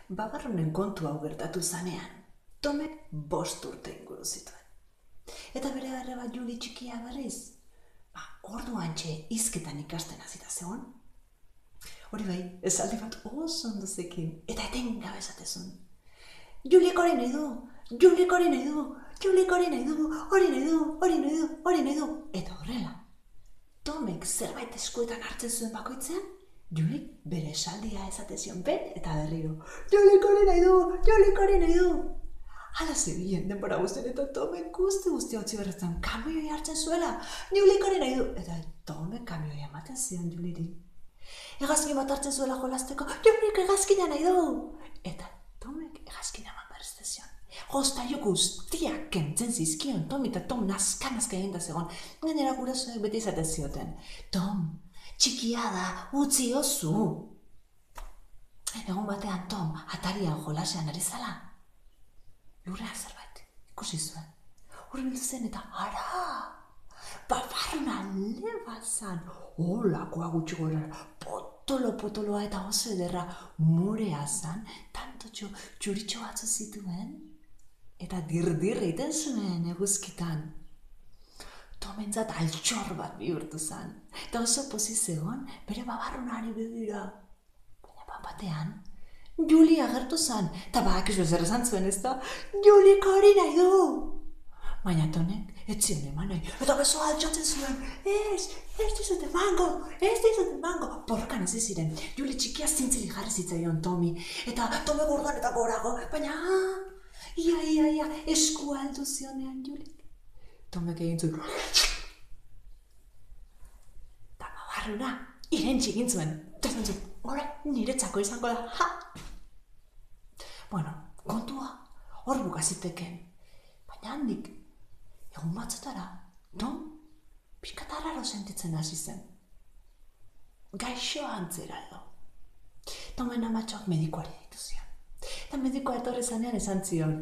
Babarrunen kontu hau gertatu zanean, Tomek 5 urte inguru zituen. Eta bere arreba Juli txikia berriz, orduan hizketan ikasten hasita zegoen. Hori bai, esaldi bat oso ondo zekin, eta etengabe esatezun. Julik hori nahi du, Julik hori nahi du, Julik hori nahi du, hori nahi du, hori nahi du, hori nahi du. Eta horrela, Tomek zerbait eskuetan hartzen zuen bakoitzean, Julik bere esaldia esatezion ben eta berriro. Julik hori nahi du, Julik hori nahi du. Hala zebilen denbora guztien eta Tomek guzti hotzi berretzen kamioi hartzen zuela. Julik hori nahi du. Eta Tomek kamioi ematen zion Juliri. Hegazkin bat hartzen zuela jolasteko, Julik hegazkina nahi du. Eta Tomek hegazkina eman berrezte zion. Joztaio guztiak kentzen zizkion Tom eta Tom nazka egin da zegoen. Gainera gurasoek beti izaten zioten. Tom, txikia da, utzi ozu. Egun batean Tom atarian jolasean ari zala. Lurrean zerbait, ikusi zuen. Hurbildu zen eta ara! Babarruna leba zan. Holakoa gutxi gora, potoloa eta oso ederra murea zan, tantotxo txuritxo batzu zituen. Eta dirdir egiten zuen eguzkitan. Tomentzat altxor bat bihurtu zan. Eta oso pozik zegoen bere babarrunari begira. Baina batean, Juli agertu zan. Eta badakizu zer esan zuen ez da, Julik hori nahi du. Baina Tonek ez zion eman nahi. Eta beso altxatzen zuen. Ez dizut emango. Borrokan hasi ziren. Juli txikia zintzili jarri zitzaion Tomi. Eta Tome gordoan eta gorago. Baina ia, eskua aldu zionean Julik. Tomek egin zuen. Eta babarruna, irentxi egin zuen. Eta zuen zuen, niretzako izango da, ha! Bueno, kontua, hor bukaziteken. Baina handik, egun batzutara, Tom, pixkatarraro sentitzen hasi zen. Gaixo antzera edo. Tomen amatxoak medikoari ditu zion. Eta medikoa etorri zanean esan zion.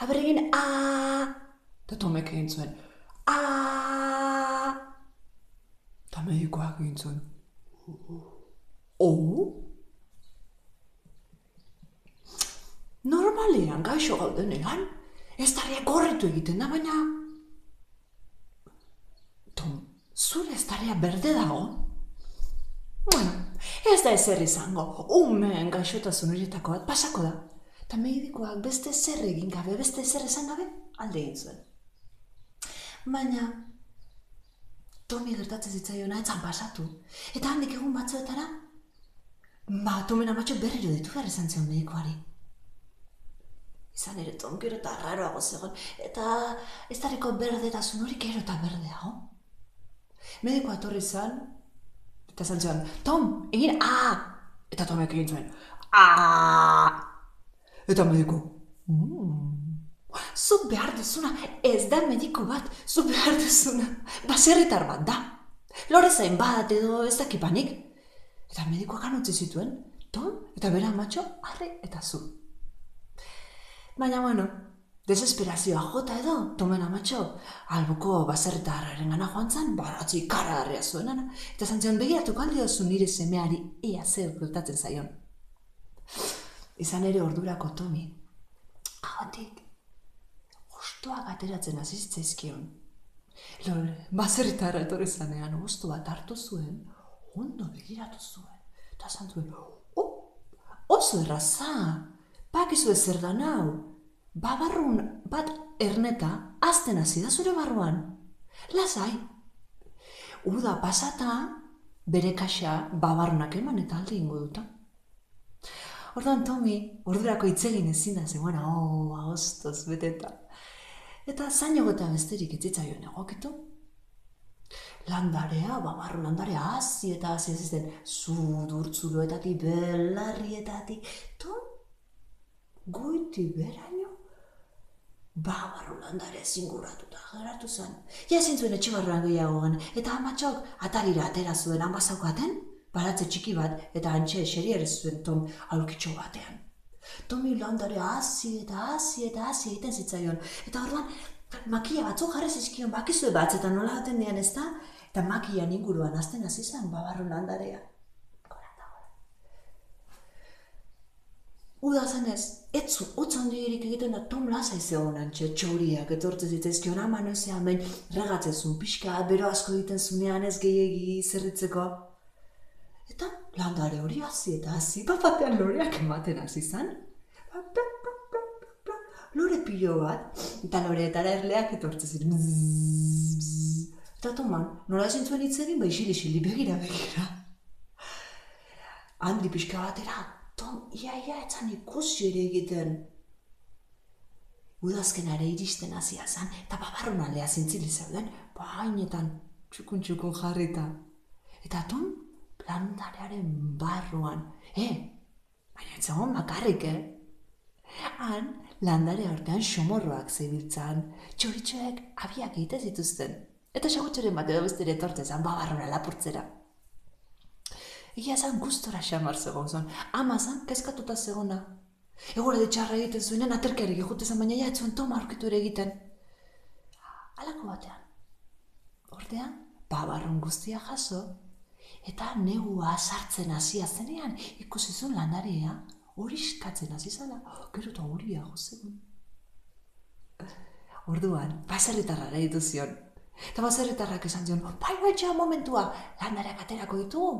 Aberregin, Eta Tomek egin zuen. Eta medikoak egin zuen. Normalean gaixo gaudenean, ez tarriak gorritu egiten da, baina... Tom, zure ez tarria berde dago? Bueno, ez da ezer izango, umeen gaixotasun horietako bat pasako da. Eta medikoak beste zer egin gabe, beste zer esan gabe, alde egin zuen. Baina, Tomi gertatzen zitzaiona etzan pasatu. Eta handik egun batzuetara, Tomen amatxo berriro ditu behar esan zion medikoari. Izan ere Tom gero eta raroago zegoen, eta ez dareko berdetasun hori gero eta berdeago. Medikoa etorri zan, eta esan zion, Tom, egin Eta Tomek egin zuen, Eta mediko, zu behar duzuna, ez da mediko bat, zu behar duzuna, baserritar bat da. Lore zain bat edo ez dakipanik. Eta medikoak anutzi zituen, Tom eta bera amatxo, arre eta zu. Baina, bueno, desesperazioa jota edo, Tomen amatxo, albuko baserritarraren gana joan zan, baratzi karagarria zuenana, eta zantzion begiratuko aldiozu nire semeari ea zer gertatzen zaion. Izan ere ordurako Tomi, ahotik, hostoak ateratzen hasi zitzaizkion. Baserritarra etorri zanean hosto bat hartu zuen, ondo begiratu zuen, eta esan zuen, oso erraza, bakizu ezer da nau, babarrun bat erneta azten hasi da zure barruan. Lasai, uda pasata bere kaxa babarrunak eman eta alde ingo duta. Orduan Tomi, ordurako itzegin ezin da zegoen, agostoz beteta. Eta zainago eta besterik etzitzaioen egokitu. Landarea, babarru landarea hazi eta hazi ez den zudurtzuloetatik, belarrietatik, Tom, goiti beraino, babarru landarea zinguratuta geratu zen. Ja ezin zuen etxe barruan gehiago gen, eta amatxok atarira atera zuen hanbazaukaten, baratze txiki bat, eta antxe eseri zuen Tom aulkitxo batean. Tomi landarea hazi egiten zitzaion, eta orduan makia batzuk jarri zizkion bakizue batzetan nola gaten dian ez da, eta makian inguruan azten hasi zen babarru landarea. Uda zenez, etzu, utz handirik egiten da Tom lasai zegoen antxe, txoriak etortze zitzaizkion ama noizean behin regatzezun pixka, bero asko egiten zunean ez gehiegi zerritzeko. Eta landare hori hasi eta hasi, batean loreak ematen hasi zan. Lore pilo bat, eta loreetara erleak etortze ziren. Eta Toman, nola ezin zuen hitz egin, isili begira. Handi pixka batera, Tom, ia etzan ikusi ere egiten. Udazkenare iristen hasia zan, eta babarrun aldea zintzili zeuden, hainetan txukun jarrita. Eta Tom, landarearen barruan, baina etzagon bakarrik, Han, landare aurtean xomorroak zebiltzan, txoritxoek abiak egite zituzten, eta xagutxoren bat edo bestere etortezan babarrura lapurtzera. Egia zan gustora xamar zegoen zon, ama zan kezkatuta zegona. Egora ditxarra egiten zuenen aterkearik egutezan, baina ja etzuen Toma aurkitu ere egiten. Halako batean. Ordean, babarrun guztia jaso, eta negua sartzen hasia zenean ikusi zuen landarea horiskatzen hasi zala, gero eta horia gozegun. Orduan, baserritarra nahi duzion. Eta baserritarrak esan zion, bai, momentua, landareak aterako ditugu.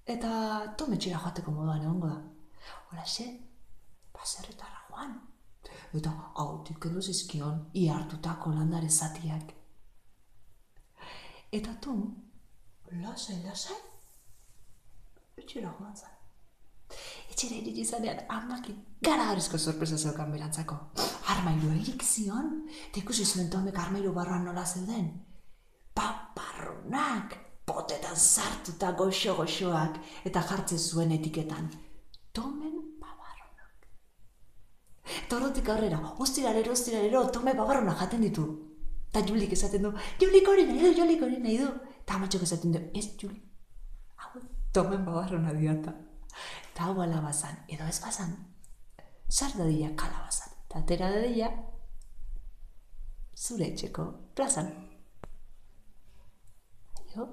Eta Tom etxera joateko moduan egongo da. Horaxe, baserritarra joan. Eta hautik edo zizkion, ihartutako landare zatiak. Eta Tom, lasai, etxera joan zan. Etxera iritsi zanean, amakin garagarrizko sorpresa zeukan berantzako. Armailu erik zion, eta ikusi zuen Tomek armailu barruan nola zeuden. Paparrunak, potetan sartuta goxoak, eta jartzen zuen etiketan. Tomen babarrunak. Eta horretik aurrera, ostiralero, Tome babarrunak jaten ditu. Eta Julik esaten du, Julik hori nahi du. Eta amatxok esaten du, ez Julik, hau Tomen babarruna diata. Eta hau alabazan, edo ez bazan, sar dadila kalabazan, eta atera dadila, zure etxeko plazan. Jo?